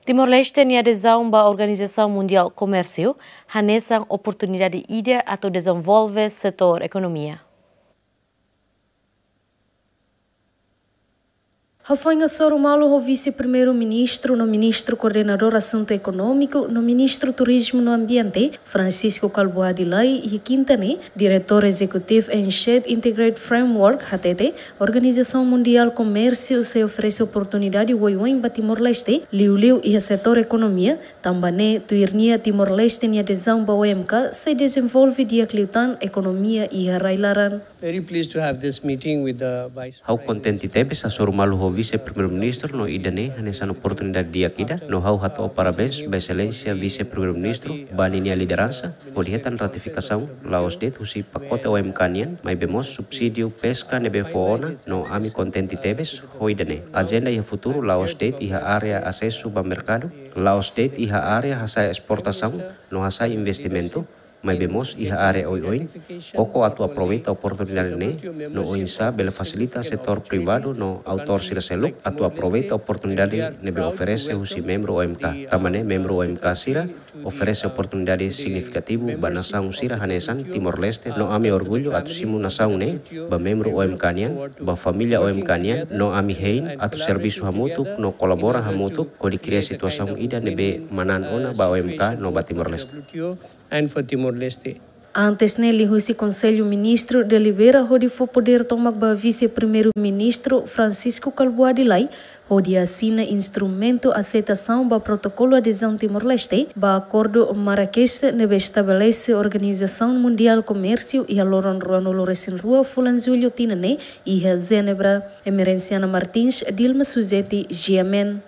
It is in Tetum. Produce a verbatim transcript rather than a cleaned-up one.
Timor-Leste nia adezaun ba Organizasaun Mundiál Komérsiu hanesan oportunidade ida atu dezenvolve setór ekonomia. Hafoin hasoru malu ho Vise-Primeiru-Ministru no Ministru Koordenadór Asuntu Ekonómiku no Ministru Turizmu no Ambiente, Francisco Kalbuadi Lay, iha kinta ne'e, Diretór Ezekutivu N Z Integrated Framework hatete, Organizasaun Mundiál Komérsiu sei oferese oportunidade oioin ba Timor-Leste, liuliu iha setór ekonomia, tanba ne'e tuir nia Timor-Leste nia adezaun ba O M K sei dezenvolve di'ak liután ekonomia iha rai-laran. Very pleased to have this meeting with the Vice Ha'u Prime kontente Minister. Tebes hasoru malu ho Vise-Primeiru-Ministru no ida-ne'e hanesan oportunidade di'ak ida, no ha'u hato'o parabéns ba Exelénsia Vise-Primeiru-Ministru ba ninia lideransa, hodi hetan ratifikasaun la'ós de'it husi pakote O M K nian, maibé mós subsídiu peska ne'ebé fó ona, no ami kontente tebes ho ida-ne'e. Ajenda iha futuru la'ós de'it iha área asesu ba merkadu, la'ós de'it iha área hasa'e esportasaun no hasa'e investimentu, maibé mós iha área oioin, koko atu aproveita oportunidade ne'e, no oinsá bele fasilita setór privadu no autór sira seluk atu aproveita oportunidade ne'ebé oferese husi membru O M K. Tanba ne'e membru O M K sira oferese oportunidade signifikativu ba nasaun sira hanesan Timor-Leste, no ami orgullu atu simu nasaun ne'e ba membru O M K nian, ba família O M K nian, no ami hein atu servisu hamutuk no kolabora hamutuk hodi kria situasaun ida ne'ebé manán ona ba O M K no ba Timor-Leste. And for Timor-Leste. Antes ne'e liuhusi Konsellu Ministru delibera hodi fó podér tomak ba Vise-Primeiru-Ministru Francisco Kalbuadi Lay, hodi asina instrumentu aseitasaun ba protokolu adezaun Timor-Leste ba Akordu Marrakech ne'ebé estabelese Organizasaun Mundiál Komérsiu iha loron ruanulu-resin-rua fulan Jullu tinan ne'e iha Jenebra. Emerenciana Martins, Dilma Suzeti, G M N.